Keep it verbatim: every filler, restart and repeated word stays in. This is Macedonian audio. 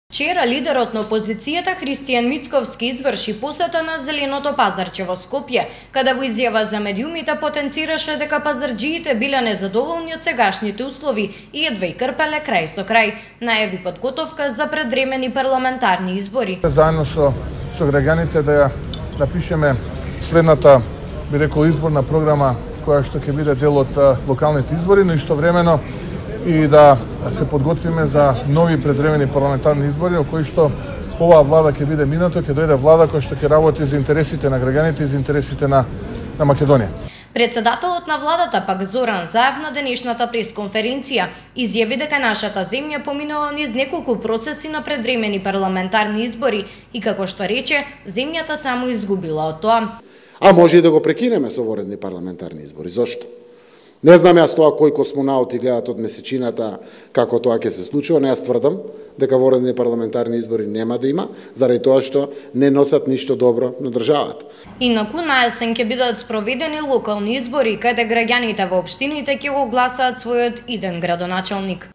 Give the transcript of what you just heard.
Вчера лидерот на опозицијата Христијан Мицковски изврши посета на Зеленото пазарче во Скопје, каде во изјава за медиумите потенцираше дека пазарџиите биле незадоволни од сегашните услови и едва и крпеле крај со крај. Најави подготовка за предвремени парламентарни избори. Заедно со, со граѓаните да ја напишеме следната, би рекол, изборна програма која што ќе биде дел од локалните избори, но истовремено и да се подготвиме за нови предвремени парламентарни избори, во кои што оваа влада ќе биде минато, ќе дојде влада која што ќе работи за интересите на граѓаните и за интересите на, на Македонија. Председателот на владата пак Зоран Заев на денешната пресконференција изјави дека нашата земја поминала низ неколку процеси на предвремени парламентарни избори и како што рече, земјата само изгубила од тоа. А може и да го прекинеме со воредни парламентарни избори. Зошто? Не знам јас тоа кои космонаути гледат од месечината како тоа ќе се случува, но јас тврдам дека воредни парламентарни избори нема да има, заради тоа што не носат ништо добро на државата. Инаку на есен ќе бидат спроведени локални избори, каде граѓаните во општините ќе го гласаат својот иден градоначалник.